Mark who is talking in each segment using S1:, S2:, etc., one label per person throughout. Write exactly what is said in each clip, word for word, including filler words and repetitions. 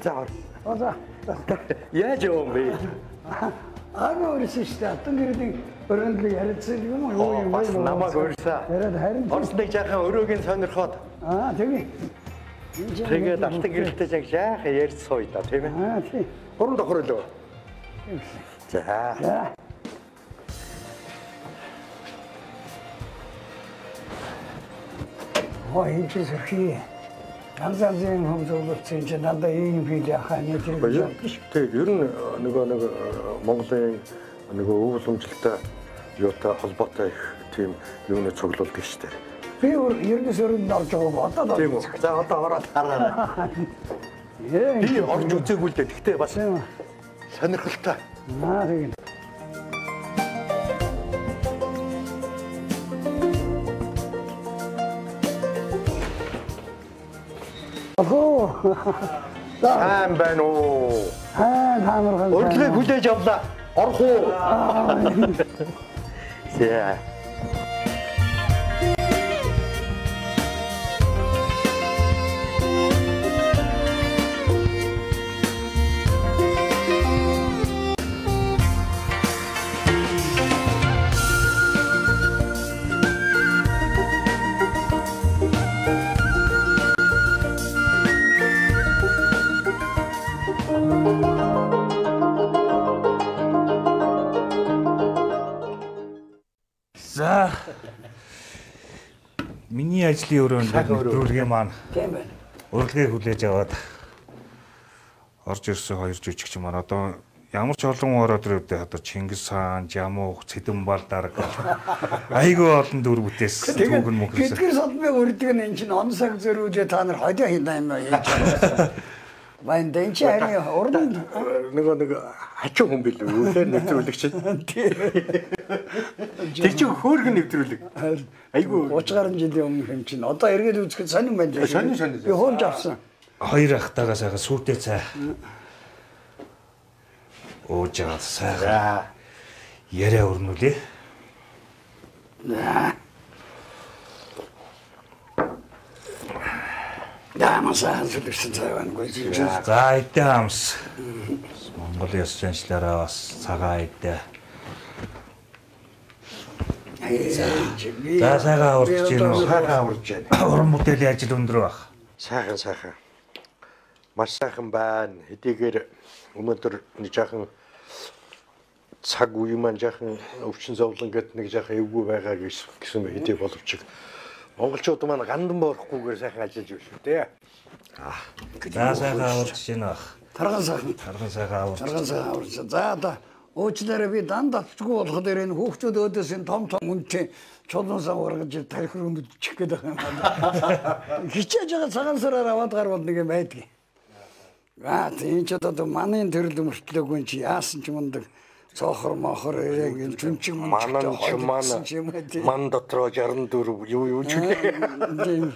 S1: За ор.
S2: За.
S1: Яаж юм бэ?
S2: Аа өөрөөсөө шүү дээ. Атан гэрийн өрөөнд л ярилцсан юм уу юу юм бэ?
S1: Намайг өрсөө.
S2: Яриад харин
S1: Орсныг жаахан өрөөгийн сонирхоод.
S2: Аа тэгээ.
S1: Тэгээд алтан гэрэлтэй яг жаахан ярьж сууя да тийм ээ.
S2: Аа тий.
S1: Гурван давхар лөө. За.
S2: За. Хоо энэ ч зөвхий. Ганцаарийн хөвзөлтсөн чинь надад ийм фил яхаа нэг юм байна.
S1: Тэгээд ер нь нөгөө нэг Монголын нөгөө өв уламжлалтай юутай холбоотой их тийм юуны цуглуулдаг шүү дээ.
S2: Би ердөөс өрөнд орж байгааг одоо
S1: тийм үү. За одоо ороод хараа. Би орж үзээгүй л дээ. Гэхдээ бас сонирхолтой.
S2: Аа тийм. Охоо.
S1: Сайн байна уу?
S2: Аа таамархан.
S1: Өглөө хүлээж авлаа. Орох уу? За.
S3: За. Миний ажлын өрөөнд нэвтрүүлгээ маань.
S2: Тийм байна.
S3: Урилгыг хүлээж аваад орж ирсэн хоёр жүжигч маань одоо ямар ч олон ороод ирээд одоо Чингис хаан, Жамуух, Цэдэнбал дарга айгүй олон дүр бүтээс түүхэн мөхөрсөн.
S2: Гэтгэр содмыг өрдөг нь эн чинь он цаг зөрүүлээ та нар хойлоо хийлаа юм яаж. Вайн дэнч харин урд
S1: нөгөө нэг хачуу хүн билүү үлээр нэвтрүүлэгч. Тэр чинь хөөргөн нэвтрүүлэг. Айгу
S2: тридцать гаруй жилийн өмнөх юм чинь одоо эргээд үзэхэд сонин байна.
S1: Сонин сонин.
S2: Би хоолж авсан.
S3: Хоёр ахтайгаа сайхан сүйтэй цай. Ууж аваад сайхан яриа өрнүүлээ. Дамасаа сүлжсэн цайвангүй чинь. За идэ хамс. Монгол ёс заншлаараа бас цагаан идэ. За сайхан урж гин үү?
S1: Сайхан урж байна.
S3: Уран бүтээлийн ажил өндөр баг.
S1: Сайхан сайхан. Маш сайхан байна. Хэдийгээр өнөөдөр нэг жаахан цаг үе маань жаахан өвчин зовлон гэдэг нэг жаахан эвгүй байгаа гэсэн хэдий боловч монголчууд маань гандан боорохгүйгээр сайхан ажиллаж байна шүү дээ.
S3: Аа. За сайхан урж гин баг.
S2: Тарган сайхан.
S3: Тарган сайхан урж.
S2: Тарган сайхан урж. За одоо уучлаарай би дандаа татчгүй болох дээр энэ хүүхдүүд өөдөөс энэ том том үнтэй чулуун сан ургаж тарих руу чих гээд байгаа юм. Хичээж байгаа цагаан сараар аваад гарвал нэг юм байдгийг. Аа тийм ч одоо манай төрөл мөртлөөгүй чи яасан ч мундаг цохор мохор яг энэ чүнчиг
S1: манан ч мана ман дотроо шестьдесят четыре юу юу ч үлээ.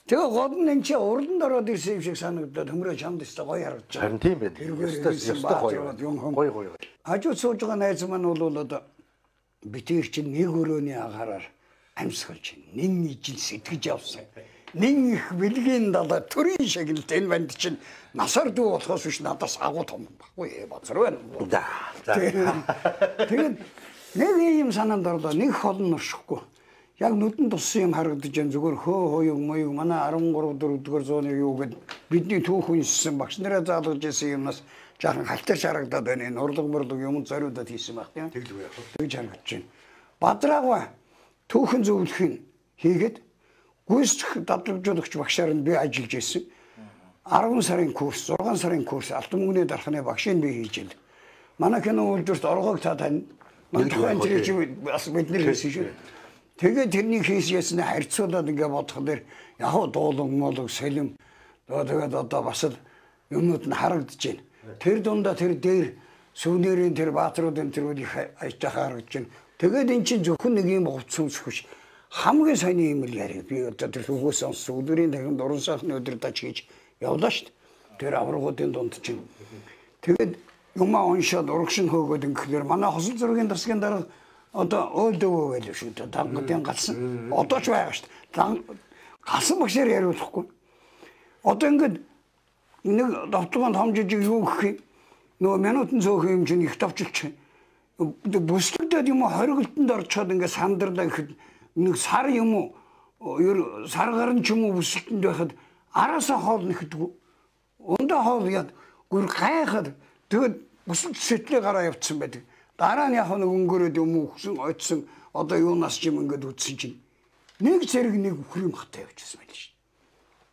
S2: Тэгээ гол нь энэ чи урдан ороод ирсэн юм шиг санагдаад хөмрөө чамд өстө гоё харагдаж байгаа.
S1: Харин тийм байна. Өстө гоё. Гоё гоё.
S2: Хажууд сууж байгаа найз маань бол одоо битэр чинь нэг өрөөний агаараар амьсгалж нэн ижил сэтгэж явсан. Нэн их бэлгийн далаа төрийн шагналт энэ банд чинь насар дүү болохоос биш надаас агуу том баггүй бацар байна.
S1: За.
S2: Тэгээд нэг юм санаанд орлоо нэг холн нуршихгүй. Яг нүдэн туссан юм харагдаж байна. Зүгээр хөө хөөг моёг манай арван гурав дөрөв дэх зууны юу гэд бидний түүх үнссэн багш нараа заалгаж ирсэн юмнаас жаахан халтар шарагдаад байна. Энэ урлаг мөрлөг юм зориудад хийсэн баг тийм.
S1: Тэглүү яах вэ?
S2: Тэгж харагдаж байна. Бадраагва түүхэн зөвлөхийг хийгээд гүйцэтгэх дадлагдуулагч багшаар нь би ажиллаж ирсэн. арван сарын курс, зургаан сарын курс алтан мөнгөний дархны багшийг би хийж ил. Манай кино үйлдвэрт оргоог та тань. Манай тухайн чинь бас бид нэр хийсэн шүү. Тэгээд тэрний хийсгээсээ харьцуулаад ингээ бодох дээр яг дуулан молог сэлэм тэгээд одоо бас л юмнууд нь харагдаж байна. Тэр дундаа тэр дээр сүүнэрийн тэр баатруудын тэр үеийг ажиж харагдаж байна. Тэгээд эн чинь зөвхөн нэг юм хувцс өмсөх хамгийн сони юм л яриа. Би одоо тэр хөвгөөс сонсон өдрийн дахин дуран сайхны өдөр даж хийж явлаа шүү дээ. Тэр аврагуудын дунд чинь. Тэгээд юмаа уншаад урагшин хөөгөөд ингэхээр манай хосол зургийн дасгийн дараа одоо өөдөө байл шүү дээ. Дангуудын галсан. Одоо ч байгаа шүү дээ. Галсан багшаар яриулахгүй. Одоо ингээд нэг довтлогонд хомжиж юу гэх юм нөгөө минутын цөөхөн юм чинь их давчилч бүслэгдээд юм уу хоригдтонд орчоод ингээ сандарлаа гэхэд нэг сар юм уу ер сар гарн ч юм уу бүслэгтэнд байхад араасаа хоол нэхдэг өндөө хоол яд гүр гайхаад тэгээд бүсэлт сэтлээ гараа явцсан байдаг. Дараа нь яг нэг өнгөрөөд юм уу хөсөн ойцсон одоо юунаас ч юм ингээд үтсэн чинь нэг зэрэг нэг үхрийн махтай явчихсан байл шүү.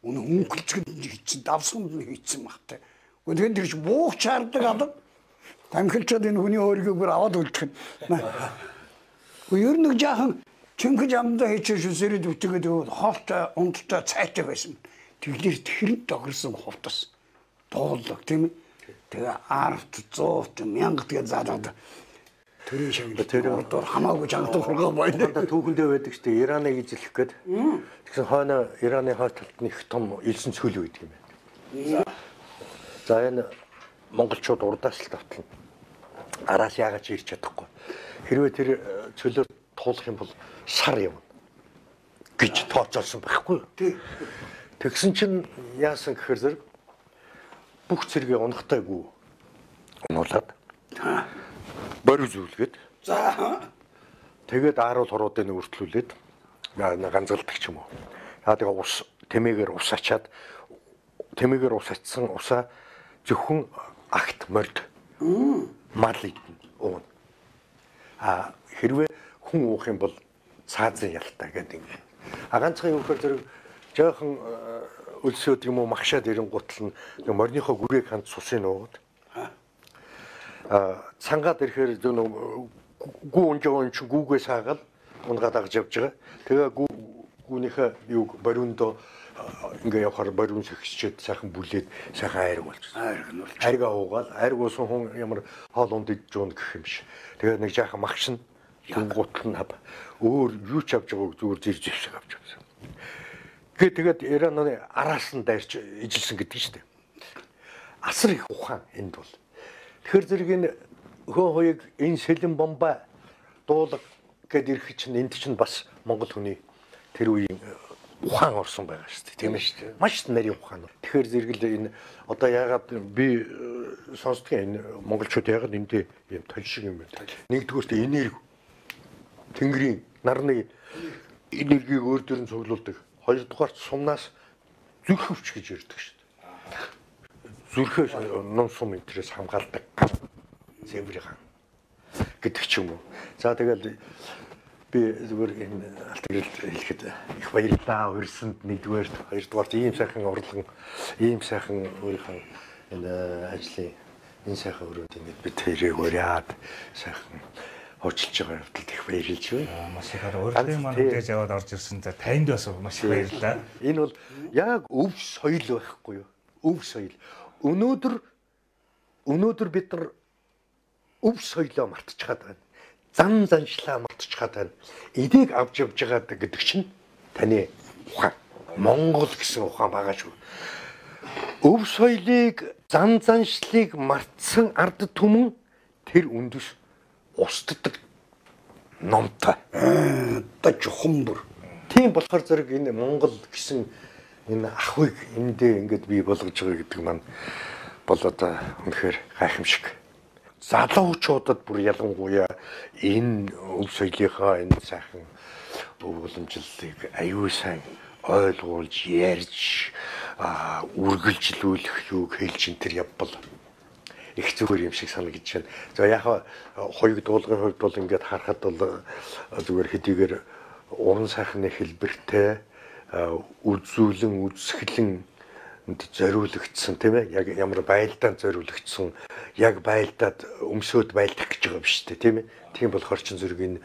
S2: Өнө өнгөлцгөнд хийцэн давсганд нь хийцэн махтай. Гэхдээ тэр чинь буух чардаг алга. Тамхилчод энэ хүний өөрийгөө бүр аваад үлдэх нь. Гэхдээ ер нь жаахан чингэж амдаа хийчихсэн сэрэд үтгээд хоолтой ундтай цайтай байсан. Тэглэр тэхэрэнд догорсон хувтас дуулаг тийм ээ. Тэгээ арт зуут мянга тэгээ заалаад төрийн шагнал тэр ордоор хамаагүй жангад хургаа байна.
S1: Түүхэндээ байдаг шүү дээ. Ираныг эзлэх гээд. Тэгсэн хойно Ираны хойцолд нэг том элсэн цөл байдаг юм байна. За энэ монголчууд урдаас л давтална. Араас яагаад ч ирч чадахгүй. Хэрвээ тэр цөлөөр туулах юм бол сар явна гэж тооцоолсон байхгүй юу? Тэгсэн чинь яасан гэхээр зэрэг бүх цэргээ унахтайгүй унуулад борь зүйлгээд за тэгээд ааруул хуруудыг өртлүүлээд ганцалдаг ч юм уу. Аа тэгээ ус тэмээгээр ус ачаад тэмээгээр ус ачсан усаа зөвхөн агт морд мал идэн уун. А хэрвээ хүн уух юм бол цаазын ялтай гэдэг юм. А ганцхан юу гэхээр зэрэг жоохон өлсөд юм уу магшаад ирэнгуутл нь морныхоо гүрийг ханд сусын уугаад а цангаад ирэхээр зөв гүү унжоо чи гүүгээ саагаад унгаад агж явж байгаа. Тэгээ гүү гүүнийхээ юу бориундоо ингээ явахаар бориун сэгсчээд сайхан бүлээд сайхан айраг болчихсон. Айраг нь болж. Айргаа уугаад айраг уусан хүн ямар хоол унд идж уун гэх юм биш. Тэгээ нэг жаахан магш нь гутал нь хав өөр юу ч авч байгааг зүгээр зэр зэвшиг авч явсан. Гэ тэгээд Ираны араас нь дайрч ижилсэн гэдэг шүү дээ. Асар их ухаан энд бол. Тэгэхээр зэрэг энэ хөө хоёыг энэ сэлэн бомба дуулаг гэд ирэх чинь энд чинь бас монгол хүний тэр үеийн ухаан орсон байгаа шүү дээ. Тийм ээ шүү дээ. Маш нарийн ухаан. Тэгэхээр зэрэг л энэ одоо яагаад би сонсдгийн энэ монголчууд яагаад эндээ юм толь шиг юм бэ? Нэгдүгээрт энерги тэнгэрийн нарны энергийг өөр дөр нь цуглуулдаг. Хоёрдугаарт сумнаас зүрхөвч гэж ярьдаг шүү дээ. Зүрхээ ном сум интерес хамгаалдаг. Зэмбэрийн хаан гэдэг ч юм уу. За тэгэл би зүгээр энэ алтралд хэлэхэд их баярлалаа. Өрсөнд нэгдүгээрт, хоёрдугаарт ийм сайхан урлан, ийм сайхан өөрийнхөө энэ ажлын энэ сайхан өрөөнд ингэж бид тэрийг уриад сайхан хурцлж байгаа явдалд их баярлж байна. Маш ихаар урлагийн маань хүлээж аваад орж ирсэн за танд бас маш их баярлалаа. Энэ бол яг өв соёл байхгүй юу? Өв соёл. Өнөөдөр өнөөдөр бид нар өв соёлоо мартчихад байна. Зан заншлаа мартчихад байна. Эдийг авч явж байгаа гэдэг чинь таны ухаан. Монгол гэсэн ухаан байгаа шүү. Өв соёлыг, зан заншлыг мартсан ард түмэн тэр үндэс устдаг номтой. Одоо жухан бүр. Тийм болохоор зэрэг энэ Монгол гэсэн энэ ахыг эндээ ингээд бий болгож байгаа гэдэг маань бол одоо үнэхээр гайхамшиг. Залуучуудад бүр ялангуяа энэ өв соёлынхаа энэ сайхан өв уламжлалыг аюул сайн ойлгуулж, ярьж, үргэлжлүүлэх юуг хэлж ин тэр явбал их зүгээр юм шиг санагдаж байна. За яг хоёуг дуулгын хувьд бол ингээд харахад бол зүгээр хэдийгээр уран сайхны хэлбэртэй үзүүлэн үзэсгэлэн зориулагдсан тийм ээ. Яг ямар байлдаанд зориулагдсан, яг байлдаад өмсөөд байлдах гэж байгаа биш үү тийм ээ. Тийм болохоор чин зэрэг энэ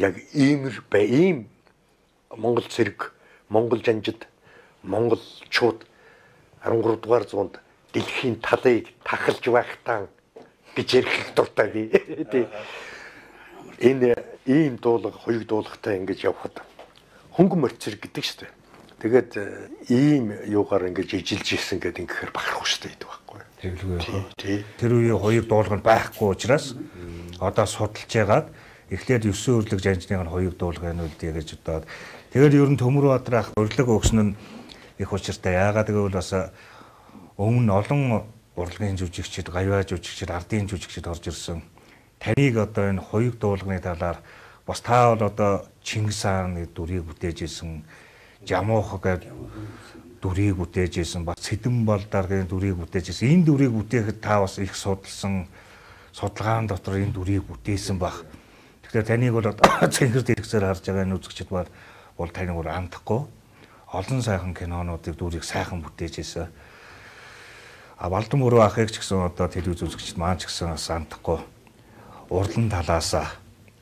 S1: яг иймэр бай ийм Монгол цэрэг, Монгол жанжид, монголчууд арван гурав дугаар зуунд дэлхийн талыг тахалж байхтаа гэж ярих дуртай би. Энэ ийм дуулга, хоёуг дуулгатай ингэж явхад хөнгөн морь цэрэг гэдэг шүү дээ. Тэгээд ийм юугаар ингэж ижилж ирсэн гэдэг ингэхээр бахарх шүү дээ гэдэг байхгүй. Тэгэлгүй. Тэр үеийн хоёуг дуулга нь байхгүй учраас одоо судалж яагаад эхлээд ёсон өрлөг жанжныг нь хоёуг дуулга нь үлдээ гэж бодоод тэгээд ер нь Төмөр Баатар ах өрлөг өгсөн нь их учиртай. Яагаад гэвэл бас
S3: Өмнө олон урлагийн жүжигчид, гавьяа жүжигчид, ардын жүжигчид орж ирсэн. Таныг одоо энэ хоёуг дуулганы талаар бас та бол одоо Чингис хааны дүрийг бүтээж исэн, Жамуух гэдэг дүрийг бүтээж исэн, бас Цэдэн Балдаргийн дүрийг бүтээж исэн. Энэ дүрийг бүтээхэд та бас их судалсан, судалгаан дотор энэ дүрийг бүтээсэн баг. Тэгэхээр таныг бол цэнхэр дэлгэцээр харж байгаа энэ үзэгчид бол бол таныг бол андахгүй. Олон сайхан кинонуудыг дүрийг сайхан бүтээж исэн. А Балдан Мөрөө ахыг ч гэсэн одоо телевиз үзэгчид маань ч гэсэн бас андахгүй. Урлан талаасаа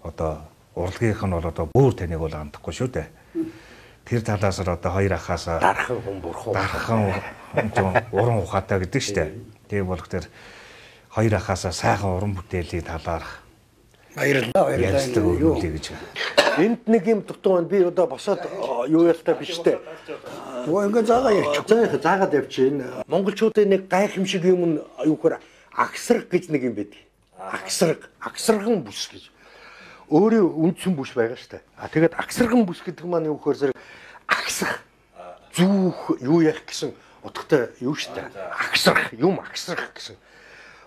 S3: одоо урлагийнх нь бол одоо бүр таныг бол андахгүй шүү дээ. Тэр талаас нь одоо хоёр ахаасаа
S1: дархан хүн бурхан
S3: дархан уран ухаатай гэдэг шүү дээ. Тийм болох тэр хоёр ахаасаа сайхан уран бүтээлийн талаар
S2: баярлалаа баярлалаа юу
S3: гэж.
S1: Энд нэг юм дутуу байна. Би одоо босоод юу ялтай биш дээ.
S2: Оо ингээ заагаа явчих.
S1: Заагаа заагаад явчихна. Монголчуудын нэг гайхамшиг юм нь юу гэхээр агсраг гэж нэг юм байдаг. Агсраг, агсарган бүс гэж. Өөрийн үндсэн бүс байгаа шүү дээ. А тэгээд агсарган бүс гэдэг маань юу гэхээр зэрэг агсах, зүүх, юу яах гэсэн утгатай юу шүү дээ. Агсрах, юм агсрах гэсэн.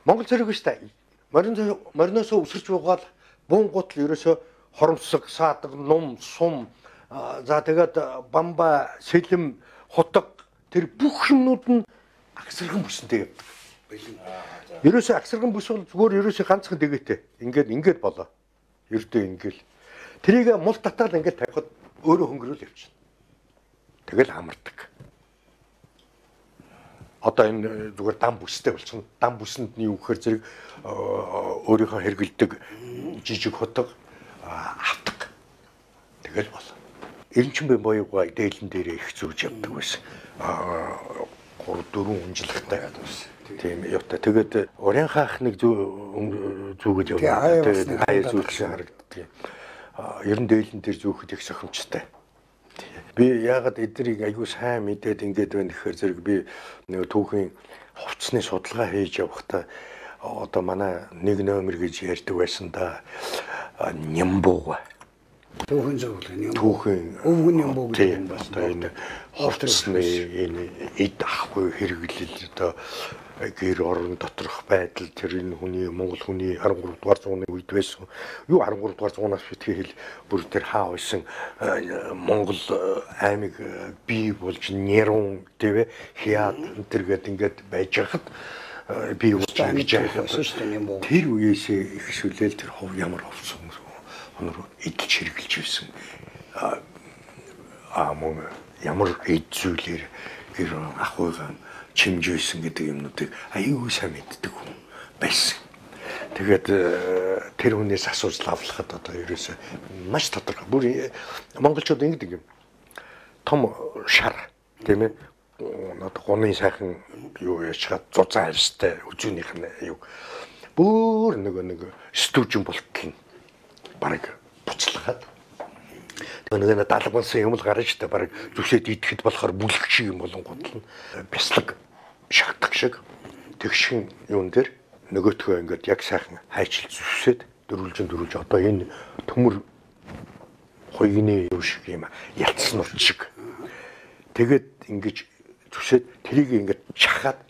S1: Монгол зэрэг шүү дээ. Морин мориноос өсөрч угаал буунгут л ерөөсө хоромсог, саадаг, нум, сум за тэгээд бамба, сэлэм, хутаг тэр бүх юмнууд нь агсарган бүсэнтэй явдаг. Ерөөсөө агсарган бүс бол зүгээр ерөөсөө ганцхан дэгээтэй. Ингээд ингээд болоо. Ердөө ингээл. Тэрийг мул татаал ингээд тавихад өөрөө хөнгөрөөл явчихна. Тэгэл хамардаг. Одоо энэ зүгээр дан бүстэй болчихно. Дан бүсэнд нь юу гэхээр зэрэг өөрийнхөө хэргэлдэг жижиг хутаг автаг. Тэгэл болоо. Эренчин боёгоо дээлэн дээрээ их зүүж явдаг байсан. гурав дөрвөн унжлагтай гэдэг байсан. Тийм явта. Тэгээд уран хаах нэг зүүгэж яваа. Тэгээд хаяа зүүгч харагддаг. Ер нь дээлэн дээр зүүхэд их сохимжтой. Би яагаад эднийг аягүй сайн мэдээд ингээд байна гэхээр зэрэг би нэг түүхийн хувцсны судалгаа хийж явахдаа одоо манай нэг номер гэж ярьдаг байсан да. Нямбуу.
S2: Түүхэн зөвлөн юм.
S1: Түүхэн
S2: өвгөн нямбуу гэдэг юм байна.
S1: Одоо энэ хувцсны энэ эд ахгүй хэрэглэл одоо гэр орон доторх байдал тэр энэ хүний Монгол хүний арван гурав дугаар зууны үед байсан. Юу арван гурав дугаар зуунаас битгий хэл бүр тэр хаа байсан Монгол аймаг бий болж нэрун тэвэ хяад тэр гээд ингээд байж хахад би юу гэж яах. Тэр үеэсээ их шүлээл тэр хов ямар хувцсан өнөр идэлж хэрэгжилж байсан. Аа мөн ямар эд зүйлэр гэр ахуйгаа чимжсэн гэдэг юмнуудыг аюу сайн мэддэг хүн байсан. Тэгээд тэр хүнээс асууж лавлахад одоо ерөөсөө маш тодорхой. Бүр монголчууд ингэдэг юм. Том шар тийм ээ. Одоо гуны сайхан юу яачаад зузаан арьстай үзүүнийх нь юу. Бүр нөгөө нэг стүүжин болтол нь бараг буцлагаад нэг даалгавсан юм л гарна штэ бараг зүсэд идэхэд болохоор бүлэг шиг юм болон гутал нь бяслаг шахдаг шиг тэгшин юун дээр нөгөөтгөө ингээд яг сайхан хайчил зүсэд дөрвөлжин дөрвөлж одоо энэ төмөр хуйгны юу шиг юм ялцсан урт шиг тэгээд ингэж зүсэд тэрийг ингээд чахаад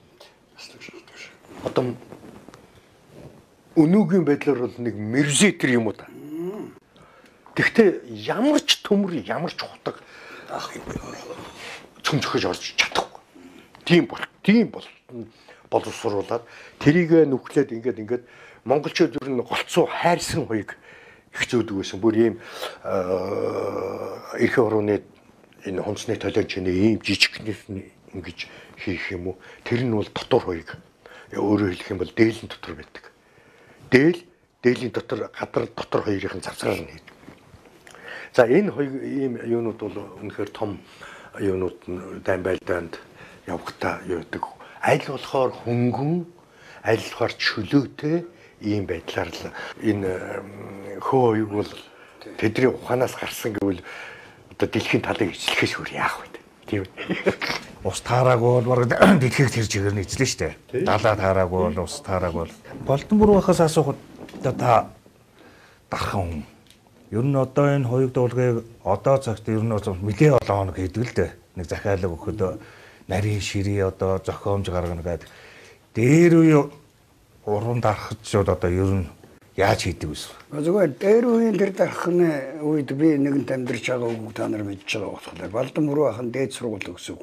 S1: одоо өнөөгийн байдлаар бол нэг мерзетер юм уу та. Тэгтээ ямар ч төмөр ямар ч хутаг цөмжөхөж орж чадахгүй. Тийм бол тийм бол боловсруулаад тэрийг нүхлээд ингээд ингээд монголчууд ер нь голцоо хайрсан хоёг их зөөдөг байсан. Бүр ийм эрх орны энэ хонцны толиончны ийм жижигнээс ингэж хийх юм уу? Тэр нь бол дотор хоёг. Өөрөөр хэлэх юм бол дээлэн дотор байдаг. Дээл дээлийн дотор гадар дотор хоёрын завсраар нь хийдэг. За энэ хоёр ийм юунууд бол үнэхээр том юунууд дайм байлдаанд явахтаа юудаг. Аль болохоор хөнгөн, аль болохоор чөлөөтэй ийм байдлаар л энэ хөө хоёуг бол тэдний ухаанаас гарсан гэвэл одоо дэлхийн талыг эзлэхээс өөр яах вэ? Тийм үү?
S3: Ус таараагүй бол бараг дэлхийд тэр чигээр нь эзлэн штэ. Далаа таараагүй бол ус таараагүй бол Балдан Мөрөө ахаас асуухад та дархан хүн. Ер нь одоо энэ хоёуг дуулгыг одоо цагт ер нь нэлээ олон хоног хийдэг л дээ. Нэг захиалга өгөхөд нарийн ширээ одоо зохиомж гаргана гэдэг. Дээр үе уран дарахчид одоо ер нь яаж хийдэг вэ?
S2: Зүгээр дээр үеийн тэр дарахны үед би нэгэнт амьдарч байгаа үг та нар мэдж байгаа болохоор Балдан мөрөө ахын дээд сургууль өгсөв.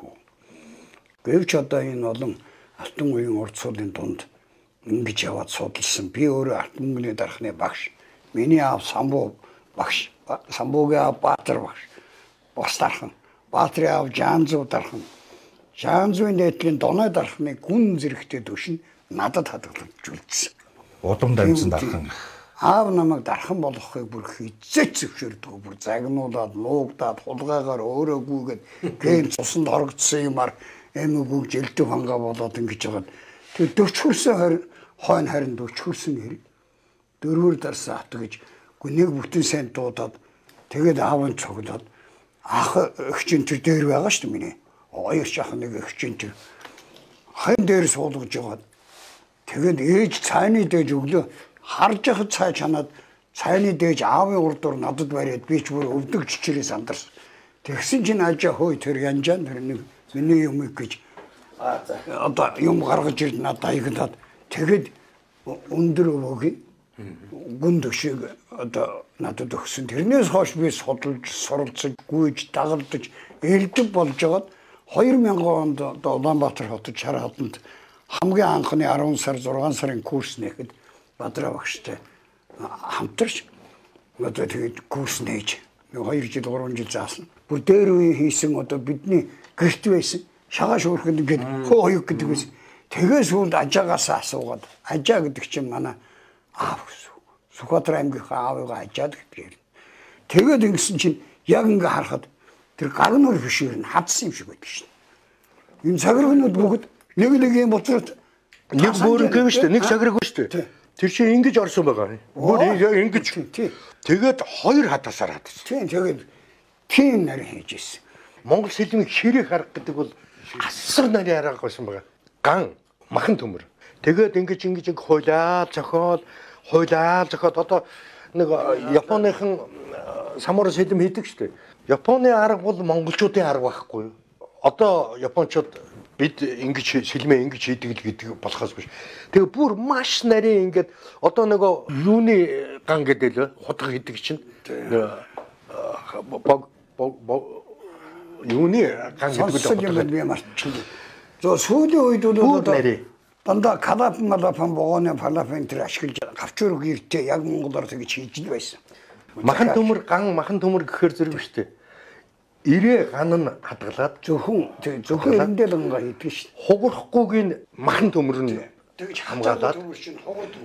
S2: Гэвч одоо энэ олон алтан үеийн урд суулын дунд ингэж яваад судалсан. Би өөрөө алтан мөнгөний дарахны багш. Миний аав самбуу багш. Самбуугийн аав Баатар багш. Бос дархан. Баатрын аав Жанзуу дархан. Жанзуугийн дээдлийн доной дарахны гүн зэрэгтэй төвшин надад хадгалж үлдсэн.
S3: Удам дамжсан дархан.
S2: Аав намайг дархан болгохыг бүр хизээч зөвшөөрдөг. Бүр загнуулаад, нуугдаад, хулгайгаар өөрөө гүйгээд гээр цусанд орогдсон юмар эмээгүүг жилдэг хангаа болоод ингэж байгаа. Тэр дөрчхөрсөн харин хойно харин дөрчхөрсөн хэрэг. Дөрвөр дарсан авто гэж гүнийг бүтэн сайн дуудаад тэгээд аавын цогдоод ах эгчин тэр дээр байгаа шүү дээ миний. Хоёр шахах нэг эгчин тэр хайн дээр суулгаж яваад тэгээд ээж цайны дээж өглөө харж яхад цай чанаад цайны дээж аавын урдуур надад бариад би ч бүр өвдөг чичрээс андарсан. Тэгсэн чинь ажаа хөөе тэр янжаан тэр нэг миний юм гэж одоо юм гаргаж ирд надад аягдаад тэгэд өндөр өвөгийн гүн төгшийг одоо надад өгсөн. Тэрнээс хойш би судалж, суралцж, гүйж, дагалдаж, элдв болж байгаад хоёр мянган онд одоо Улаанбаатар хотод Шар хотод хамгийн анхны арван сар зургаан сарын курс нээхэд Бадраа багштай хамтарч одоо тэгээд курс нээж хоёр жил гурван жил заасан. Бүр дээр үе хийсэн одоо бидний гэрт байсан шагаа шуурханд ингээд хөө хоёг гэдэг байсан. Тэгээс сүүлд ажаагаас асуугаад ажаа гэдэг чинь манай аав Сүхбаатар аймгийнхаа аавыгаа ажаад гэдэг. Тэгээд ингэсэн чинь яг ингээ харахад тэр гаргнуур бишээр нь хадсан юм шиг байдаг шин. Энэ цаграгнууд бүгд нэг нэг юм боцрот
S1: нэг бүр гэв штэ нэг цаграг шүү дээ. Тэр чинь ингэж орсон байгаа. Бүр ингэж. Тэгээд хоёр хатасаар хадсан.
S2: Тийм тэгээд тийм нарийн хийж ирсэн.
S1: Монгол сэлмийг ширээ харах гэдэг бол асар нарийн арга байсан байгаа. Ган махан төмөр. Тэгээд ингэж ингэж ингэ хойлоо зохиол хойлоо зохиод одоо нэг Японыхан самурай сэлэм хийдэг шүү дээ. Японы арга бол монголчуудын арга байхгүй юу? Одоо японочууд бид ингэж сэлмээ ингэж хийдэг л гэдэг болохоос биш. Тэгээ бүр маш нарийн ингээд одоо нөгөө юуны ган гэдэг л хутга хийдэг чинь юуны ган гэдэг л
S2: би марчихлаа. За сүүлийн үед бол дандаа калап малапан богоны палапын тэр ашиглаж гавчург иртээ яг монголоор тэгж хийж л байсан.
S1: Махан төмөр ган махан төмөр гэхээр зэрэг шүү дээ. Ирээ ган нь хадгалаад
S2: зөвхөн тэг зөвхөн эндэл ганга хийдэг шүү дээ.
S1: Хугарахгүйгийн махан төмөр нь
S2: тэгж
S1: хамгаалаад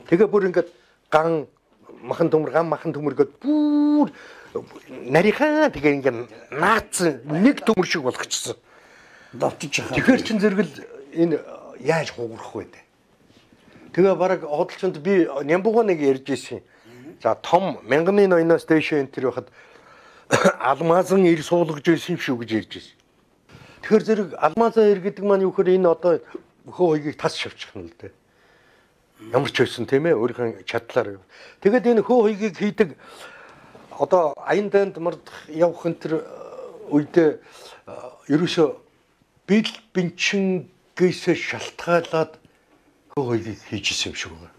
S1: тэгээ бүр ингээд ган махан төмөр ган махан төмөр гээд бүр нарийнхаа тэгээ ингээд наацсан нэг төмөр шиг болгочихсон.
S2: Давтчих хаа.
S1: Тэгэхээр чин зэрэгэл энэ яаж хугарах вэ? Тэгээ бараг худалчинд би Нямбуга нэг ярьж ирсэн. За том мянганы ноёноос дэше энэ төр байхад алмазан ир суулгаж ирсэн шүү гэж ярьж ирсэн. Тэгэхээр зэрэг алмазан ир гэдэг маань юу гэхээр энэ одоо хөө хоёгийг тас шавчих нь л дээ. Ямар ч байсан тийм ээ өөрийнхөө чадлаар. Тэгээд энэ хөө хоёгийг хийдэг одоо аян данд мард явах энэ төр үедээ ерөөсөө бил бинчингээс шалтгаалаад хөө хоёгийг хийжсэн юм шиг байна.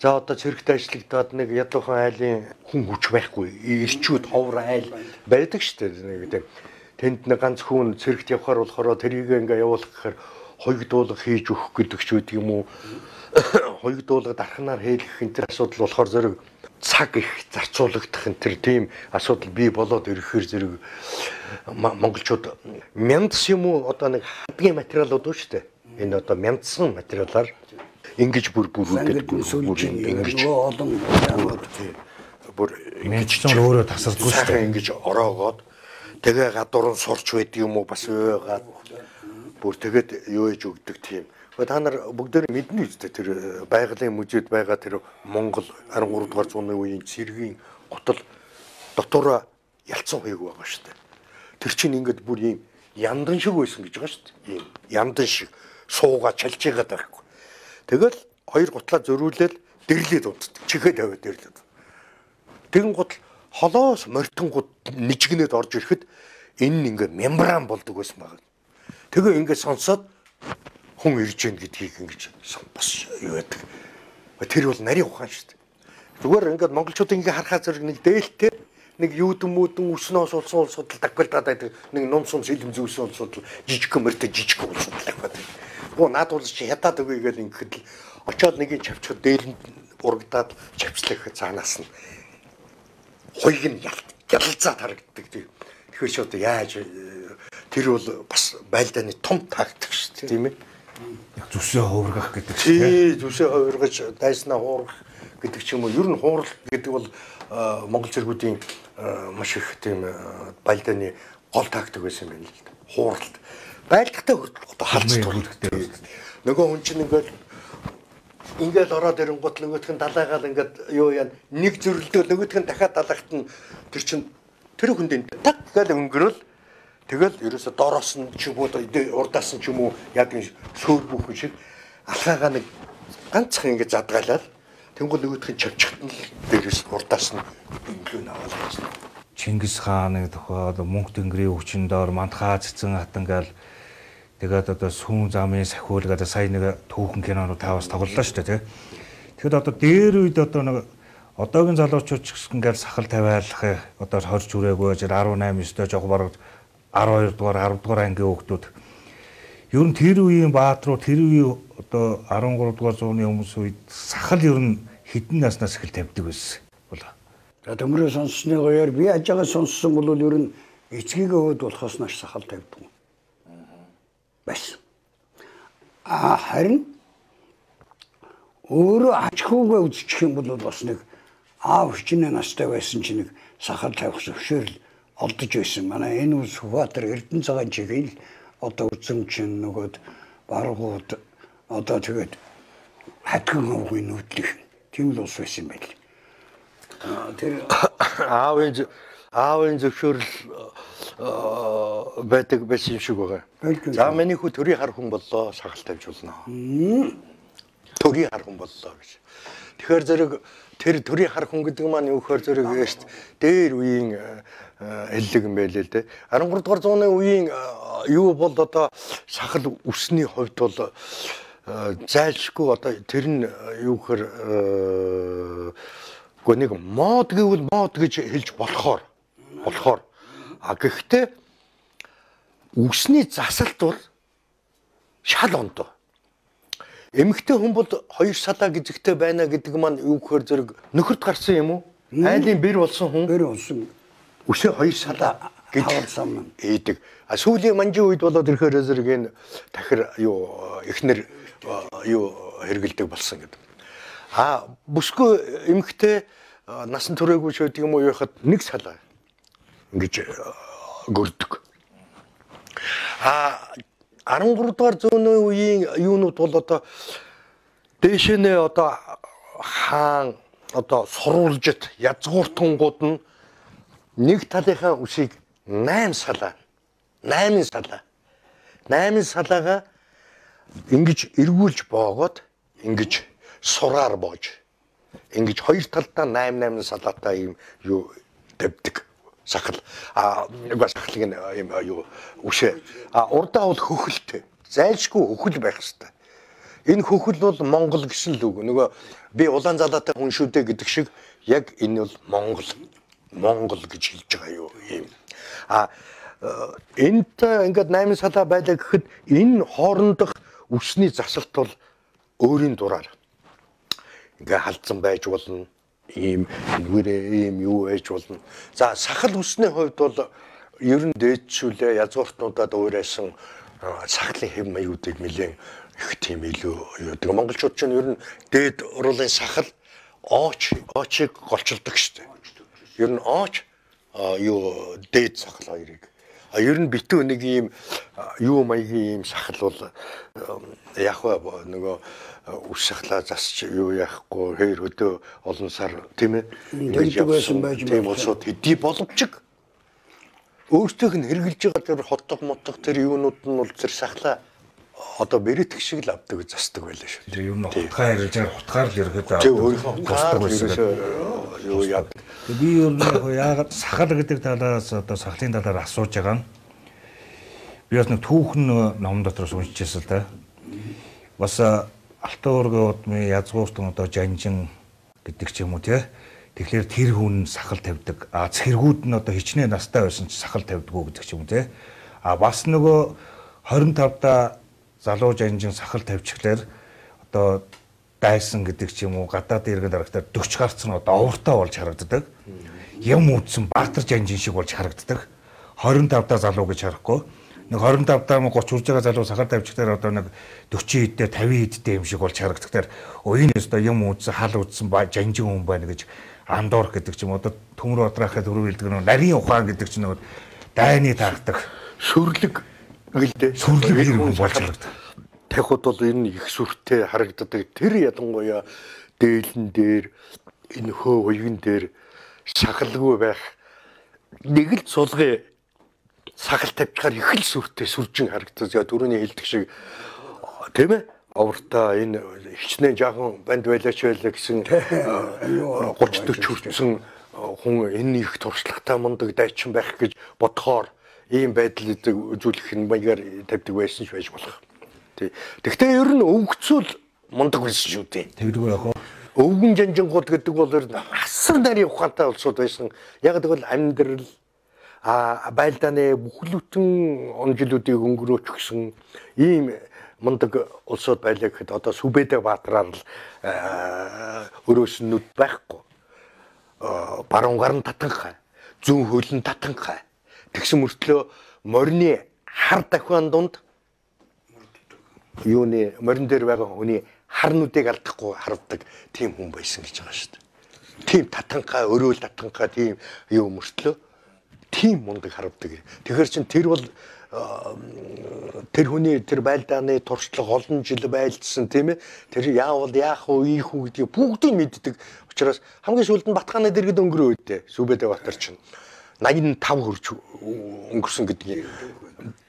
S1: За одоо цэрэгт ажиллагдаад нэг ядуухан айлын хүн хүч байхгүй ирчүүд ховор айл байдаг шүү дээ нэг тийм тэнд нэг ганц хүн цэрэгт явхаар болохоор тэрийг ингээ явуулах гэхээр хоёгдуулга хийж өгөх гэдэг ч үгүй юм уу хоёгдуулга дархнаар хийх энэ төр асуудал болохоор зэрэг цаг их зарцуулагдах энэ төр тийм асуудал бий болоод ирэхээр зэрэг монголчууд мяндс юм уу одоо нэг хадгийн материалууд үү шүү дээ энэ одоо мяндсан материалаар ингэж бүр бүрүүдэд бүр ингэж
S2: олон яваад
S1: бүр
S3: ингэж ч өөрөө тасардгүй шүү
S1: дээ ингэж ороогоод тэгээ гадуур нь сурч байд юм уу бас өөгаад бүр тэгээд юу ээж өгдөг тийм. Та нар бүгдээр мэднэ үстэй тэр байгалийн музейд байгаа тэр Монгол арван гурав дугаар зууны үеийн цэргийн гутал дотоороо ялцсан хуйг байгаа шүү дээ. Тэр чинь ингээд бүр ийм яндан шиг байсан гэж байгаа шүү дээ. Ийм яндан шиг суугаа чалж байгаад байхгүй. Тэгэл хоёр гутлаа зөрүүлээд дэрлээд унтдаг. Чихээ тавиад дэрлээд. Тэгэн гутал холоос мортонгууд нижгнээд орж ирэхэд энэ ингээ мембран болдог байсан байна. Тэгээ ингээд сонсоод хүн ирж гэн гэдгийг ингэж бас юу гэдэг. Тэр бол нарийн ухаан шүү дээ. Зүгээр ингээд монголчууд ингээ харахаа зэрэг нэг дээлтэй нэг юудэн мүүдэн өснөөс улсын улсууд дагвалдаад байдаг нэг ном сум сэлэм зүүсэн улсууд жижиг мөртэй жижиг улсууд байдаг. Гоо наад бол чи ядаад өгье гэж ингээд л очоод нэг нь чавчхад дээрэнд урагдаад чавцлах цаанаас нь хоёг нь ялалцаад харагддаг. Тэгэхээр ч одоо яаж тэр бол бас байлдааны том тактик шүү дээ тийм ээ.
S3: Зүсээ хуургах гэдэг
S1: чинь. Тий, зүсээ хуургаж дайснаа хуургах гэдэг ч юм уу. Ер нь хуурал гэдэг бол монгол зэргүүдийн маш их тийм байлдааны гол тактик байсан юм байна л да. Хууралт. Байлдахтай одоо халж туурдагтай. Нөгөө хүн чинь ингээд ингээл ороод ирэнгут нөгөөх нь далайгаал ингээд юу яа нэг зөрлөлтөө нөгөөх нь дахиад далаагт нь тэр чинь тэр хүндээ таг гал өнгөрөөл тэгэл ерөөсө доороос нь ч юм уу урдаас нь ч юм уу яг энэ сөөр бүхэн шиг алхаагаа нэг ганцхан ингээд задгаалаад тэнгуү нөгөөх нь чавчихт нь дээрээс урдаас нь өнгөлөө наваад байсан.
S3: Чингис хааны тухайд мөнх тэнгэрийн өвчин доор мандхаа цэцэн хатангаал тэгээд одоо сүүн замын сахиул гэдэг сая нэг түүхэн кинонууд таваас тоглолоо шүү дээ тий. Тэгэхэд одоо дээр үед одоо нэг одоогийн залуучууд ч ингээл сахал тавиалах одоо хорж үрээгүй дөрвөн найман ёстой жоох бараг арван хоёр дугаар арав дугаар ангийн хүүхдүүд ер нь тэр үеийн баатруу тэр үеийн одоо арван гурав дугаар зууны хүмүүс үед сахал ер нь хэдэн наснаас эхэл тавьдаг байсан болоо.
S2: За төмрөө сонссны гоёор би аж байгаа сонссон бол ер нь эцгийгээ хөөд болохоос нааш сахал тавьдаг. Бас. А харин өөрөө аж ахуйгаа үзчих юм бол бас нэг аав хичнээн настай байсан чинь нэг сахал тавих зөвшөөрөл олдож байсан. Манай энэ ус Сүхбаатар Эрдэнэ цагаан чигээр одоо үзэмчин нөгөөд баргууд одоо тэгээд хатган хөвгийн нүүдлэх тийм л ус байсан байл. Тэр
S1: аавын аавын зөвшөөрөл байдаг байсан шиг байгаа. За миний хүү төрийн хар хүн боллоо сахал тавьж болно. Төрийн хар хүн боллоо гэж. Тэгэхээр зэрэг тэр төрийн хар хүн гэдэг маань юу гэхээр зэрэг яст дээр үеийн эллэг юм байлээ л дээ. арван гурав дугаар зууны үеийн юу бол одоо сахал үсний хувьд бол зайлшгүй одоо тэр нь юу гэхээр гоо нэг мод гэвэл мод гэж хэлж болохоор болохоор а гэхдээ үсний засалт бол шал ондоо. Эмэгтэй хүн бол хоёр салаа гизэгтэй байна гэдэг маань юу гэхээр зэрэг нөхөрт гарсан юм уу? Айлын бэр болсон хүн.
S2: Бэр болсон.
S1: Үсээ хоёр салаа гэж хэлсэн ийдэг. А сүүлийн манжийн үед болоод ирэхээр зэрэг энэ тахир юу эхнэр юу хэргэлдэг болсон гэдэг. А бүсгүй эмэгтэй насан туршаагүй ч гэдэг юм уу яхад нэг салаа ингэж гөрдөг. А арван гурав дугаар зууны үеийн юунууд бол одоо дээшнээ одоо хаан одоо сурвалжит язгууртангууд нь нэг талынхаа үсийг найман салаа найман салаа найман салаагаа ингэж эргүүлж боогоод ингэж сураар боож ингэж хоёр талдаа найман найман салаатай юм юу тавьдаг сахал а нэг сахалыг юм юу үшээ а урдаа бол хөхөлтэй зайлшгүй хөхөл байх хэвээр. Энэ хөхөл бол Монгол гэсэн л үг. Нөгөө би улаан залаатай хүн шүү дээ гэдэг шиг яг энэ бол Монгол Монгол гэж хэлж байгаа юу юм. А энэт ингээд найман салаа байлаа гэхэд энэ хоорондох үсний засалт бол өөрийн дураар ингээ халдсан байж болно. Ийм нүрээ ийм юу ээж болно. За сахал үсний хувьд бол ер нь дээдшүүлээ язгууртнуудад уурайсан сахлын хэв маягуудыг нэлээд их тийм илүү юу гэдэг. Монголчууд ч ер нь дээд уруулын сахал ооч оочийг голчилдог шүү дээ. Ер нь ооч юу дээд сахал хоёрыг. А ер нь битүү нэг ийм юу маягийн ийм сахал бол яг нөгөө үс сахлаа засч юу яахгүй хоёр өдөө олон сар тийм ээ
S2: ингэж явсан байж
S1: тийм улсууд хэдий боловч өөртөөх нь хэрглэж байгаа тэр хотдог мотдог тэр юунууд нь бол тэр сахлаа одоо бэрэтг шиг л авдаг засдаг байлаа шүү.
S3: Тэр юу н хутгаа ярьж байгаа хутгаар л ирэхэд
S1: тийм өөрийнхөө хутгаар юу яа.
S3: Би ер нь яагаад сахал гэдэг талаас одоо сахлын талаар асууж байгаа нь би бас нэг түүхэн ном дотроос уншижсэн л да. Бас Алтан уургийн удмын язгууртан одоо Жанжин гэдэг ч юм уу тий. Тэгэхээр тэр хүн сахал тавьдаг. А цэргүүд нь одоо хичнээн настай байсан ч сахал тавьдаггүй гэдэг ч юм уу тий. А бас нөгөө хорин тавда залуу Жанжин сахал тавьчихлаар одоо дайсан гэдэг ч юм уу гадаад иргэн дарагтаар дөрч гарцсан одоо овртой болж харагддаг. Юм үдсэн Баатар Жанжин шиг болж харагддаг. хорин тавда залуу гэж харахгүй. Нэг хорин тавдаа гуч урж байгаа залуу сахал тавьчихлаар одоо нэг дөрвөн хэдтэй тавин хэдтэй юм шиг болж харагддаг. Уян өстө юм үдсэн хал үдсэн Жанжин хүн байна гэж андуур гэдэг ч юм одоо төмөр одрахад хөрөв хэлдэг нэг нарийн ухаан гэдэг ч нэг дайны таагдаг
S1: сүрлэг гэлдэ
S3: сүрлэг хүн болж харагддаг.
S1: Тахууд бол энэ их сүртэй харагддаг. Тэр ялангуяа дээлэн дээр энэ хөө уян дээр сахалгүй байх нэг л цулгын сахал тавьчихаар их л сүртэй сүржин харагддаг. Түрүүний хэлдэг шиг тийм ээ овртаа энэ хичнээн жаахан банд байлаач байлаа гэсэн гурван дөрвөн хүрсэн хүн энэ их туршлагатай мундаг дайчин байх гэж бодохоор ийм байдал үзүүлэх нь маягаар тавьдаг байсан ч байж болох. Тэгтээ ер нь өвгцөл мундаг байсан шүү дээ.
S3: Тэгдэг байх уу?
S1: Өвгөн Жанжингууд гэдэг бол ер нь асар нарийн ухаантай улсууд байсан. Яг тэгвэл амьдрал а байлдааны бүхлөтэн он жилүүдийг өнгөрөөч гсэн ийм мундаг улсууд байлаа гэхэд одоо Сүбэдэ Баатараар л өрөөс нь нүд байхгүй. Баруун гарын татанхай, зүүн хөлн татанхай. Тэгсэн мөртлөө морины хар дахиан дунд юуны морин дээр байгаа хүний хар нүдийг алдахгүй хардаг тийм хүн байсан гэж байгаа шүү дээ. Тийм татанхай, өрөөл татанхай тийм юу мөртлөө тийм мундаг харагддаг. Тэгэхээр чин тэр бол тэр хүний тэр байлдааны туршлага олон жил байлдсан тийм ээ. Тэр яавал яах вэ, ийх үү гэдгийг бүгдийг мэддэг. Учираас хамгийн сүүлд нь Батхааны дэргэд өнгөрөө үедээ Сүбэдэ Баатар чинь найман тав хөрж өнгөрсөн гэдгийг.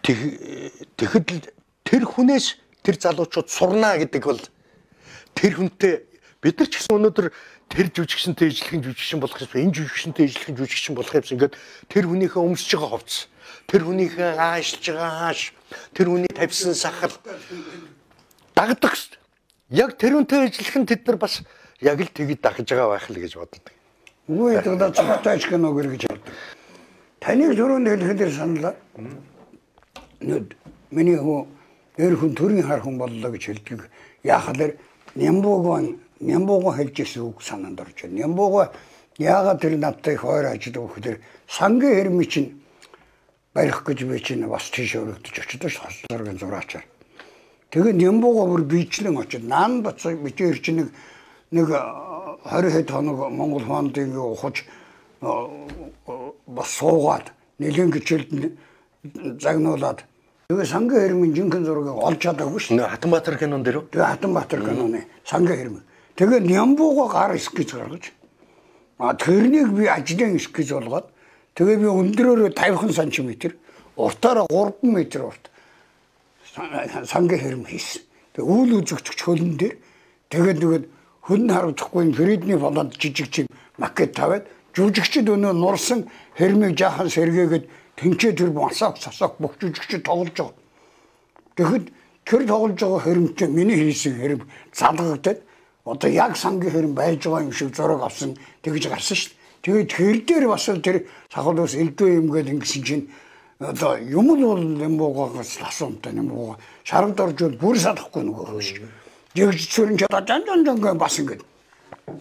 S1: Тэгэхэд л тэр хүнээс тэр залуучууд сурнаа гэдэг бол тэр хүнтэй бид нар ч гэсэн өнөөдөр тэр жүжигчэнтэй ижлэхэн жүжигчин болох юм, энэ жүжигчэнтэй ижлэхэн жүжигчин болох юмсан ингээд тэр хүнийхээ өмсөж байгаа хувцас, тэр хүнийхээ аашилж байгаа ааш, тэр хүний тавьсан сахал дагдаг. Яг тэр хүнтэй ижлэхэн тэд нар бас яг л тэгэд дагж байгаа байх л гэж боддог.
S2: Үгүй ээ цогтой ч гэнэ үгэр гэж боддог. Таныг түрүүнд хэлэхээр саналаа. Нүд миний хөө эр хүн төрийн хар хүн боллоо гэж хэлдэг. Яахад Нямбууган Нямбууган хэлж ирсэн үг санаанд орж байна. Нямбууга яагаад тэр надтай их ойр ажилладаг гэхээр сангийн хэрми чинь барих гэж би чинь бас тийш өргөдөж очиж хослоргийн зураачаар. Тэгээд Нямбууга бүр бичлэн очиж наан бацаа бичээр чинь нэг нэг двадцать хэд хоног Монгол хондын ухаж бас суугаад нэлен гिचэлд загнуулаад тэгээ сангийн хэрмийн жинхэнэ зургийг олж чадаагүй шүү.
S1: Хатанбаатар кинон дээр үү?
S2: Тэгээ Хатанбаатар киноны сангийн хэрмэн. Тэгээ Нямбууга гар эскиз гаргаж а тэрнийг би ажлын эскиз болгоод тэгээ би өндөрөөрөө пятьдесят сантиметр, уртаараа три метр урт сангийн хэрм хийсэн. Тэгээ үйл үзэгч хөлн дээр тэгээд тэгээд хүн харуулчихгүй Фридний болоод жижиг чим макет тавиад жүжигчд өнөө нурсан хэрмийг жаахан сэргээгээд тэнцээ тэр масак сасак бүх жүжигчд тоглож байгаа. Тэгэхэд тэр тоглож байгаа хэрм чинь миний хийсэн хэрм залгагдаад одоо яг сангийн хэрм байж байгаа юм шиг зураг авсан тэгж гарсан шүү дээ. Тэгээд тэр дээр бас тэр сахал ус элдвэ юм гээд ингэсэн чинь одоо юм л бол юм буугаас асуумтай юм бууга шаргад орж бүр салахгүй нөгөө хөөш. Жигж цөрөн ч одоо жан жан жан бас ингэ.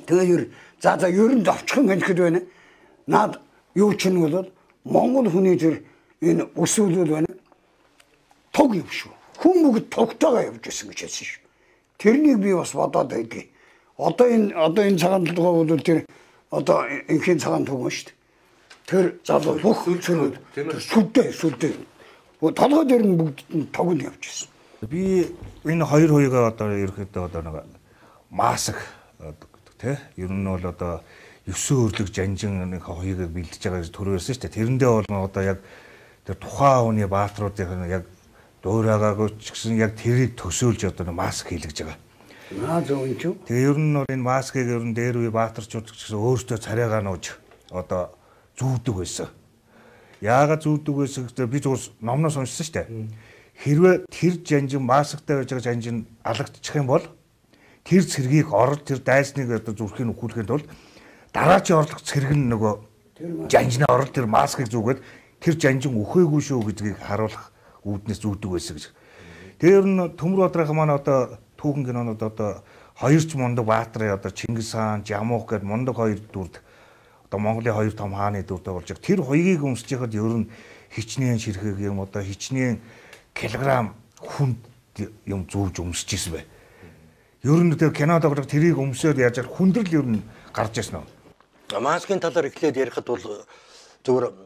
S2: Тэгээд за за ер нь давчхан хэлэхэд байна. Наад юу ч нь бол Монгол хүний тэр энэ өсвөл байна. Туг юм шүү. Хүн бүгд тугтайгаа явж байсан гэж хэлсэн шүү. Тэрнийг би бас бодоод байдгийг. Одоо энэ одоо энэ цагаан толгой бол тэр одоо инхийн цагаан туг шүү дээ. Тэр залуу бүх сүрүүд сүлдээ сүлдээ. Толгой дээр нь бүгд туг нь явж байсан.
S3: Би энэ хоёр хоёроо одоо ерөөхдөө одоо нэг маск гэдэг тий. Ер нь бол одоо Евсэн өрлөг Жанжин нэг хоёрыг бэлдэж байгаа гэж төрөөсөн шүү дээ. Тэрэндээ бол одоо яг тэр тухайн хүний баатруудын яг дуурайгаагүй ч гэсэн яг тэрийг төсөөлж одоо маск хийлгэж байгаа.
S2: Аа зөв юм шүү.
S3: Тэгээ ер нь бол энэ маскыг ер нь дээр үе баатарчууд гэсэн өөртөө царайгаа нууж одоо зүүдэг байсан. Яагаад зүүдэг байсан гэхдээ би зүгээр номноос уншсан шүү дээ. Хэрвээ тэр жанжин масктай байж байгаа жанжин алагдчих юм бол тэр цэргийг орол тэр дайсныг одоо зүрхийг өхүүлэхэд бол дараачийн орлого цэрэг нь нөгөө жанжны орол тэр маскыг зүгээд тэр жанжин өхөөгүй шүү гэдгийг харуулах үүднээс зүүдэг байсан гэж. Тэр нь Төмөр Бадрах маань одоо түүхэн кинонууд одоо хоёрч мундаг баатарын одоо Чингис хаан, Жамуух гэдэг мундаг хоёр дүрд одоо Монголын хоёр том хааны дүрдээ болж байгаа. Тэр хоёгийг өмсөж яхад ер нь хичнээн ширхэг юм одоо хичнээн килограмм хүнд юм зүүж өмсөж ирсэн бай. Ер нь тэр кинод байгаа тэрийг өмсөд яаж хүндрэл ер нь гарч ирсэн үү?
S1: Маскын талаар эхлээд ярихад бол зөвхөн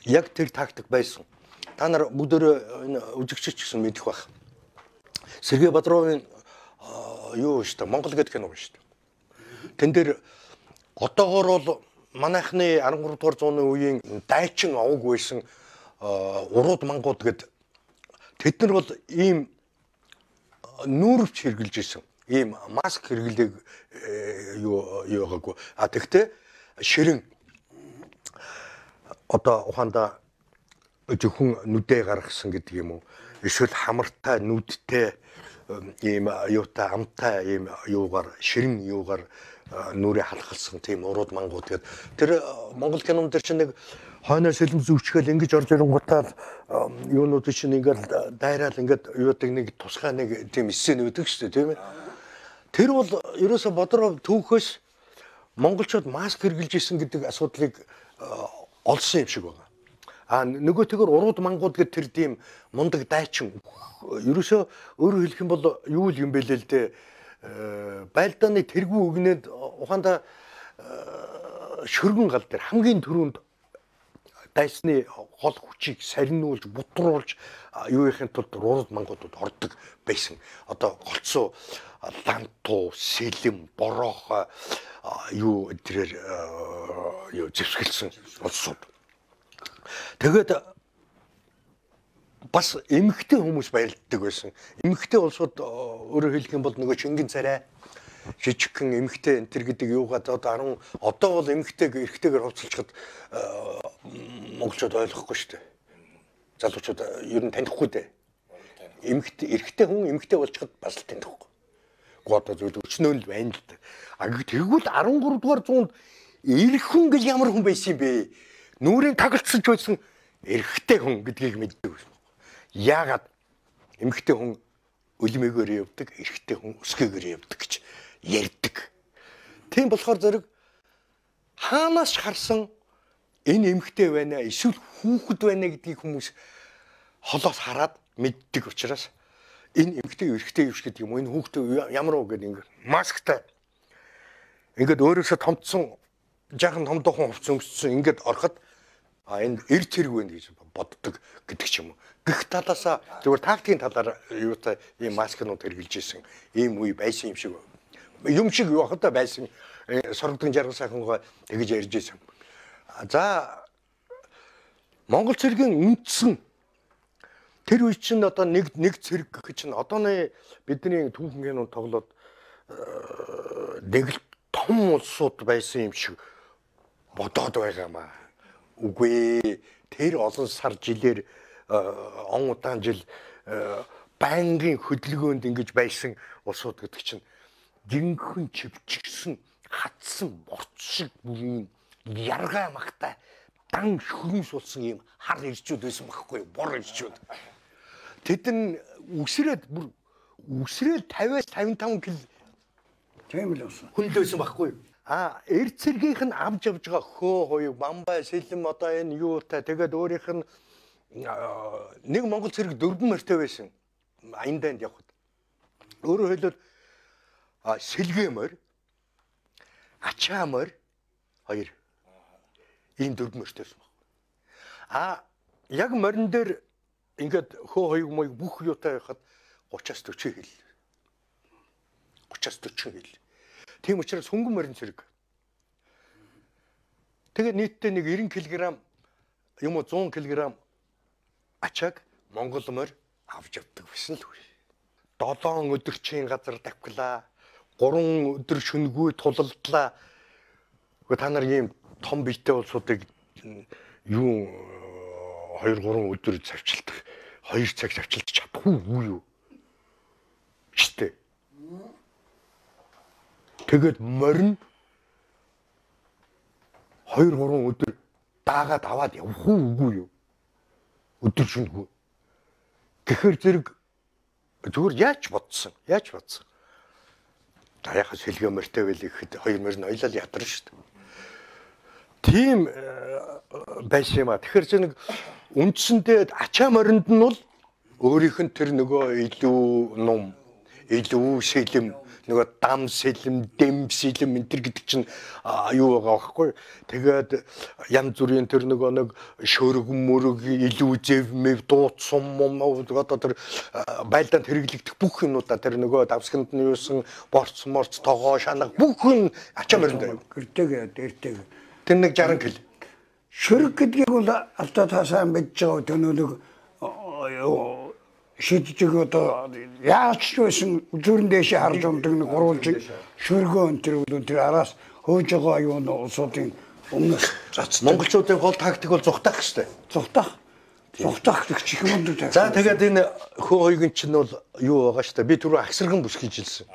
S1: яг тэр тактик байсан. Та нар бүгдөө энэ үжигчч гэсэн мэдэх байх. Сергей Бодровын юу шүү дээ Монгол гэдэг кино шүү дээ. Тэн дээр одоогоор бол манайхны арван гурав дугаар зууны үеийн дайчин овог байсан урууд мангууд гэд тэд нар бол ийм нүүрвч хэрглэж исэн. Ийм маск хэрглэг юу юу гаггүй. А тэгтээ ширэн одоо ухаанда зөвхөн нүдээ гаргасан гэдэг юм уу? Эсвэл хамартай нүдтэй ийм юутай амтай ийм юугаар ширэн юугаар нүрээ халахсан тийм урууд мангууд гэдэг. Тэр Монгол кинонд дээр чинь нэг хойноос сэлэм зүвчгээл ингэж орж ирэнгуутаа юунууд чинь ингээд дайраал ингээд юудаг нэг тусгай нэг тийм эссен үүдэх шүү дээ тийм ээ. Тэр бол ерөөсө Бодров түүхөөс монголчууд маск хэрглэж исэн гэдэг асуудлыг олсон юм шиг байна. А нөгөөтэйгөр урууд мангууд гэдэг тэр тийм мундаг дайчин ерөөсө өөрөөр хэлэх юм бол юу л юм бэ л дээ. Байлдааны тэргүй өгнөд ухаанда шөргөн гал дээр хамгийн түрүүнд дайсны хол хүчийг сарниулж бутруулж юу ихэнх тулд урууд мангуудад ордог байсан. Одоо голцоо лантуу, сэлэм, борох юу тэрээр юу зэвсгэлсэн улсууд. Тэгээд бас эмэгтэй хүмүүс баярлдаг байсан. Эмэгтэй улсууд өөрөөр хэлэх юм бол нөгөө Чингэн царай жижигхэн эмэгтэй энэ төр гэдэг юугаа одоо одоо бол эмэгтэйг эрэгтэйгээр хувцалчихад монголчууд ойлгохгүй шүү дээ. Залуучууд ер нь танихгүй дээ. Эмэгтэй эрэгтэй хүн эмэгтэй болчиход бас л танихгүй. Гоо зүйл өчнөө л байна л да. А тэгвэл арван гурав дугаар зуунд эрх хүн гэж ямар хүн байсан юм бэ? Нүрийн тагалцсанч байсан эрэгтэй хүн гэдгийг мэддэг байсан. Яагаад эмэгтэй хүн өлмөөгөөр явдаг, эрэгтэй хүн өсгөөгөөр явдаг гэж ярьдаг. Тийм болохоор зэрэг хаанаас харсан энэ эмэгтэй байна аа, эсвэл хүүхэд байна гэдгийг хүмүүс холоос хараад мэддэг учраас энэ эмэгтэй эрэгтэй юуш гэдэг юм. Энэ хүүхдээ ямар уу гэдэг ингээд масктай ингээд өөрөөсөө томцсон жаахан том дохон хувцас өмссөн ингээд ороход а энэ эр цэрэг байна гэж боддог гэдэг ч юм уу. Гэх талаасаа зөвхөн тактикийн талаар юутай ийм маскнууд хэрэгжилж исэн ийм үе байсан юм шиг юм шиг юу хата байсан сорогдсон жаргал сайхангаа тэгж ярьж исэн. За Монгол цэргийн үндсэн тэр үе чинь одоо нэг нэг цэрэг гэх чинь одооны бидний түүхэн кинонд тоглоод нэг л том улсууд байсан юм шиг бодоод байгаамаа. Үгүй тэр олон сар жилээр он удаан жил байнгын хөдөлгөөнд ингэж байсан улсууд гэдэг чинь жинхэнэ чивчгсэн хатсан борц шиг бүхэн яргаа магтай дан шүрэн сулсан юм хар ирчүүд байсан байхгүй бор ирчүүд. Тэд нь үсрээд бүр үсрээд тавиас тавин таван кил тийм л болсон. Хүнд байсан байхгүй. А эр цэргийнх нь авж явж байгаа хөө хоёуг бамбай сэлэм одоо энэ юутай тэгээд өөрийнх нь нэг Монгол цэрэг дөрвөн морьтой байсан. Аянданд явхад. Өөрөөр хэлбэл сэлгээ морь, ачаа морь хоёр. Ийм дөрвөн морьтой байсан баг. А яг морин дээр ингээд хөө хоёуг моёг бүх юутай байхад гураваас дөрвөн хил. гураваас дөрвөн хил. Тийм учраас хөнгөн морин цэрэг. Тэгээд нийтдээ нэг нব্бэ килограмм юм уу зуун килограмм ачааг Монгол морь авч явдаг байсан л үгүй. долоон өдөрчийн газар давхлаа. гурван өдөр шөнөгүй тулалдлаа. Гэхдээ та нар ийм том биетэй улсуудыг юу хоёр гурван өдөр завчилдаг хоёр цаг завчилж чадахгүй юу штэ. Тэгээд морин хоёр гурван өдөр даагаад аваад явах үгүй юу? Өдөр шөнөгүй. Тэгэхэр зэрэг зүгээр яаж бодсон? Яаж бодсон? За яхаа сэлгээ мөртэй байл ихэд хоёр морин ойлол ядарна шүү дээ. Тийм байсан юм а. Тэгэхээр чи нэг үндсэндээ ачаа моринд нь бол өөрийнх нь тэр нөгөө илүү ном, илүү сэлэм, нөгөө дам сэлэм, дэм сэлэм энэ төр гэдэг чинь юу байгаа байхгүй. Тэгээд янз бүрийн тэр нөгөө нэг шөрөг мөрөг илүү зэв мэв дууц сум мом одоо тэр байлдаанд хэрэглэгдэх бүх юмудаа тэр нөгөө давсганд нь юусан борц морц тогоо шанаг бүх юм ачаа моринд
S2: гэртэйг дээртэйг
S1: тэр нэг жарган кил.
S2: Шөрөг гэдгийг бол алдаа таасаа мэдж байгаа төнөөлөг шийдэж одоо яаж ч байсан зүрэн дэше харж ундаг нэг гурвалж шөргөө өнтер өнтер араас хөөж байгаа юу н улсуудын өмнө зац.
S1: Монголчуудын гол тактик бол зүхтах штэ.
S2: Зүхтах. Зүхтах гэх чих юм дүү.
S1: За тэгээд энэ хөө хоёрын чинь бол юу байгаа штэ. Би түрүү агсарган бүс гэж хэлсэн.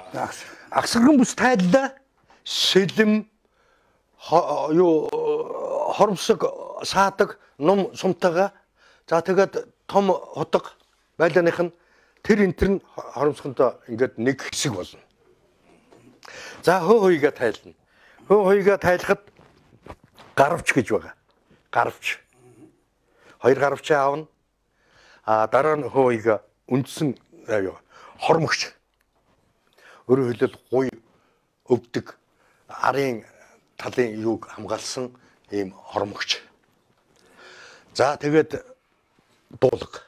S1: Агсарган бүс тайллаа. Сэлэм юу хоромсог саадаг ном сумтайгаа за тэгээд том хотго байлааных нь тэр энтер нь хоромсгонтой ингээд нэг хэсэг болно. За хөө хоёгаа тайлна. Хөө хоёгаа тайлахад гаравч гэж байгаа. Гаравч. Хоёр гаравч аавна. А дараа нь хөө хоёгаа үндсэн юу хормогч. Өөрөөр хэлбэл гуй өвдөг арын талын юуг хамгаалсан ийм хормогч. За тэгээд дуулга.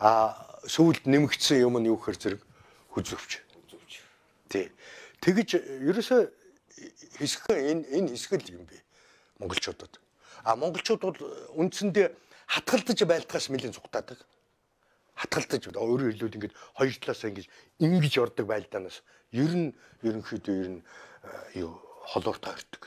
S1: А сүүлд нэмэгдсэн юм нь юу гэхээр зэрэг хүзөвч. Тий. Тэгэж ерөөсөө хэсэг энэ энэ хэсэг л юм бэ монголчуудад. А монголчууд бол үндсэндээ хатгалдаж байлдахаас нэлээд зүгтаадаг. Хатгалдаж өөрөөр хэлбэл ингэж хоёр талаас ингэж ингэж ордог байлдаанаас ер нь ерөнхийдөө ер нь юу холоортой ордог.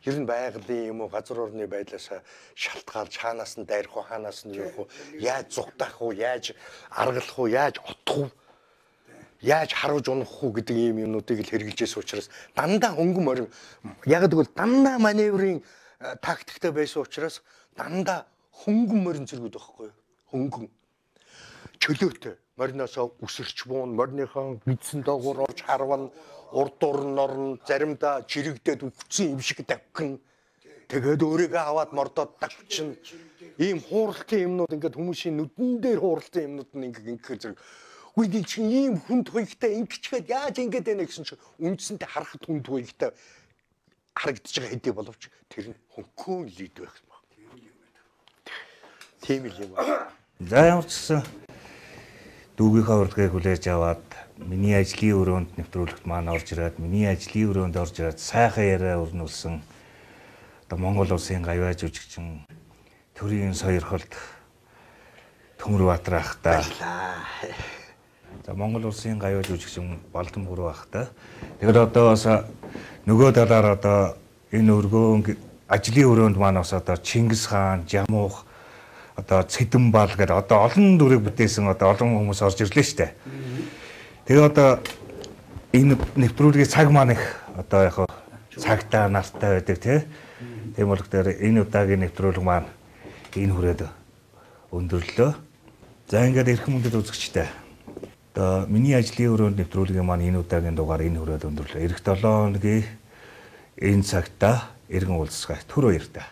S1: Ер нь байгалийн юм уу газар орны байдлаас шалтгаалж хаанаас нь дайрах уу хаанаас нь явах уу яаж зүгтах уу яаж аргалах уу яаж отох уу яаж харуулж унах уу гэдэг ийм юмнуудыг л хэрэгжилжсэн учраас дандаа хөнгөн морин яг гэвэл дандаа маневрын тактиктэй байсан учраас дандаа хөнгөн морин зэргүүд байхгүй юу хөнгөн чөлөөтэй мориноосоо үсэрч буун мориныхон бидсэн доогуур орж харван урд дурн орн заримдаа жирэгдээд үхсэн юм шиг давхин тэгээд өөрийгөө аваад мордоод давчин ийм хууралтын юмнууд ингээд хүмүүсийн нүдэн дээр хууралтын юмнууд нь ингээд ингээд зэрэг үгүй нэг чинь ийм хүнд хуйгтай ингэчгээд яаж ингээд байна гэсэн чинь үндсэндээ харахад хүнд хуйгтай харагдаж байгаа хэдий боловч тэр нь хөнгөн лид байх юм байна. Тийм л юм байна.
S3: За ямар ч гэсэн дүүгийнхаа урилгыг хүлээж аваад миний ажлын өрөөнд нэвтрүүлэгт маань орж ирээд миний ажлын өрөөнд орж ирээд сайхан яриа өрнүүлсэн одоо Монгол улсын гавьяа жүжигчин төрийн сойрхолд Төмөрбаатар ах та. За Монгол улсын гавьяа жүжигчин Балдан Бүрүү ах та. Тэгэхээр одоо бас нөгөө талаар одоо энэ өргөөн ажлын өрөөнд маань бас одоо Чингис хаан, Жамуух одоо Цэдэнбал гэдэг одоо олон дүрийг бүтээсэн одоо олон хүмүүс орж ирлээ шүү дээ. Тэгээ одоо энэ нэвтрүүлгийн цаг маань их одоо яг цагтаа нартай байдаг тий. Тийм болохоор энэ удаагийн нэвтрүүлэг маань энэ хүрээд өндөрлөө. За ингээд эрхэм хүндэт үзэгчтэй. Одоо миний ажлын өрөөнд нэвтрүүлгийн маань энэ удаагийн дугаар энэ хүрээд өндөрлөө. Эх долоо хоногийн энэ цагтаа эргэн уулзцгаая. Түр баяртай.